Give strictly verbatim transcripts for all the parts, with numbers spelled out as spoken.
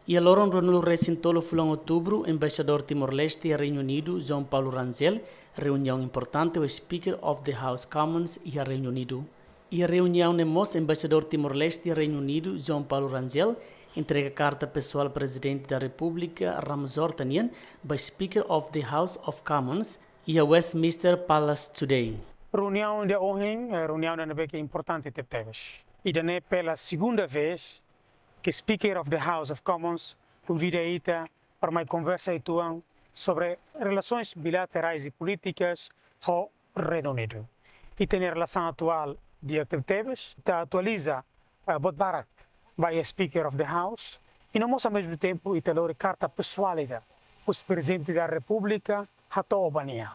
Iha loron ruanulu resin tolu fulan Outubru, Embaixadór Timor-Leste iha Reinu Unidu, João Paulo Rangel, reuniaun importante ho Speaker of the House Commons iha Reinu Unidu. Iha reuniaun ne'e mós, Embaixadór Timor-Leste iha Reinu Unidu, João Paulo Rangel, entrega karta pesoál Prezidente da Repúblika, Ramos Horta nian, ba Speaker of the House of Commons, iha Westminster Palace today. Reuniaun ida ohin, eh, reuniaun ida ne'ebé ke importante tebetebes. Ida-ne'e pela segunda vez ke Speaker of the House of Commons konvida ita para mai konversa uitoan sobre relasoens bilaterais i polítikas ho Reinu Unidu. Ita-nia relasaun atuál di'ak tebetebes, ita atualiza, eh, buat barak ba iha Speaker of the House, i no mós ao mesmo tempo ita lori karta pesoál ida husi Prezidente da Repúblika hato'o ba nia.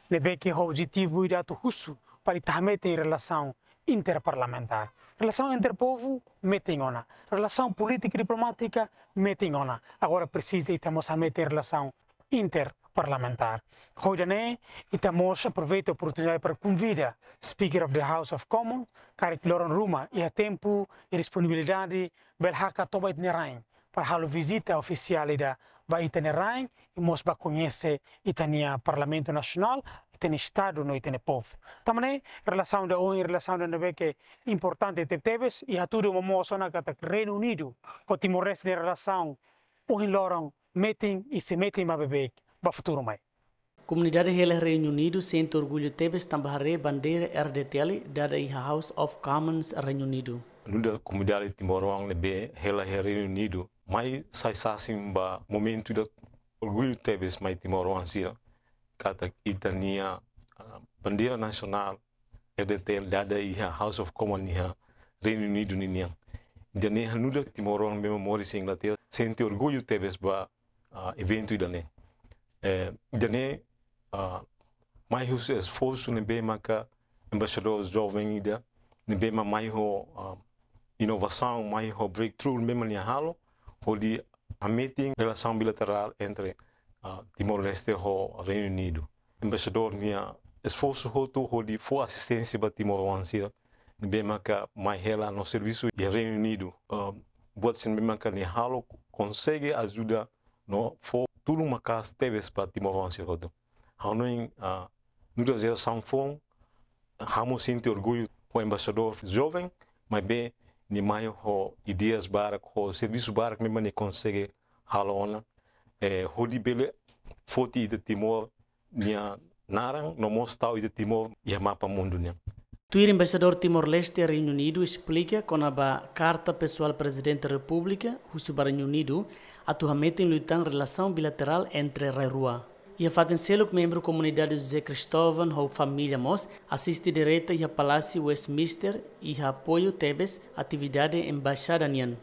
Ne'ebé ke ho objetivu ida atu husu para ita hametin relasaun interparlamentár. Relasaun entre povu metin ona. Relasaun polítika diplomátika metin ona. Agora presiza ita mós hametin relasaun interparlamentár. Ho ida-ne'e, ita mós aproveita oportunidade para konvida Speaker of the House of Commons, karik loron ruma iha tempu i disponibilidade, bele hakat toba ita-nia rain para halo vizita ofisiál ida ba ita-nia rain, i mós ba koñese ita-nia Parlamentu Nasionál, ita-nia Estadu no ita-nia povu. Tanba ne'e, relasaun ida ohin, relasaun ida ne'ebé ke importante tebetebes, i hatudu momoos ona katak Reinu Unidu ho Timor-Leste nia relasaun ohin loron metin i sei metin maibé ba futuru mai. Komunidade hela Reinu Unidu sente orgullu tebes tanba haree bandeira R D T L dada iha House of Commons Reinu Unidu. Nu'udar komunidade timoroan ne'ebé hela iha Reinu Unidu, mai sai sasin ba momentu ida orgullu tebes mai timoroan sira, katak ita-nia, ah, bandeira nasionál R D T L dada iha House of Commons iha Reinu Unidu ninian. Ida-ne'e halo nu'udar timoroan ne'ebé moris iha Inglaterra sente orgullu tebes ba, ah, eventu ida-ne'e. Eh, ida-ne'e, ah, mai husi esforsu ne'ebé maka embaixadór joven ida, ne'ebé mak mai ho, ah, inovasaun, mai ho breakthrough ne'ebé mak nia halo, hodi hametin relasaun bilaterál entre, ah, Timor-Leste ho Reinu Unidu. Embaixadór nia esforsu hotu hodi fó asisténsia ba timoroan sira ne'ebé maka mai hela no servisu iha Reinu Unidu. Ah, buat sira ne'ebé maka nia halo konsege ajuda no fó tulun maka'as tebes ba timoroan sira hotu. Ha'u hanoin, ah, nu'udar jerasaun foun, ha'u mós sente orgullu ho embaixadór joven, maibé nia mai ho ideias barak, ho servisu barak ne'ebé mak nia konsege halo ona, eh, hodi bele foti ita Timor nia naran, no mós tau ita Timor iha mapa mundu nian. Tuir Embaixadór Timor-Leste iha Reinu Unidu esplika kona-ba karta pesoál Prezidente Repúblika husu ba Reinu Unidu atu hametin liután relasaun bilaterál entre rai rua. Iha fatin seluk, membru komunidade José Cristóvão ho família mós asiste direta iha Palásiu Westminster i apoiu tebes atividade embaixada nian.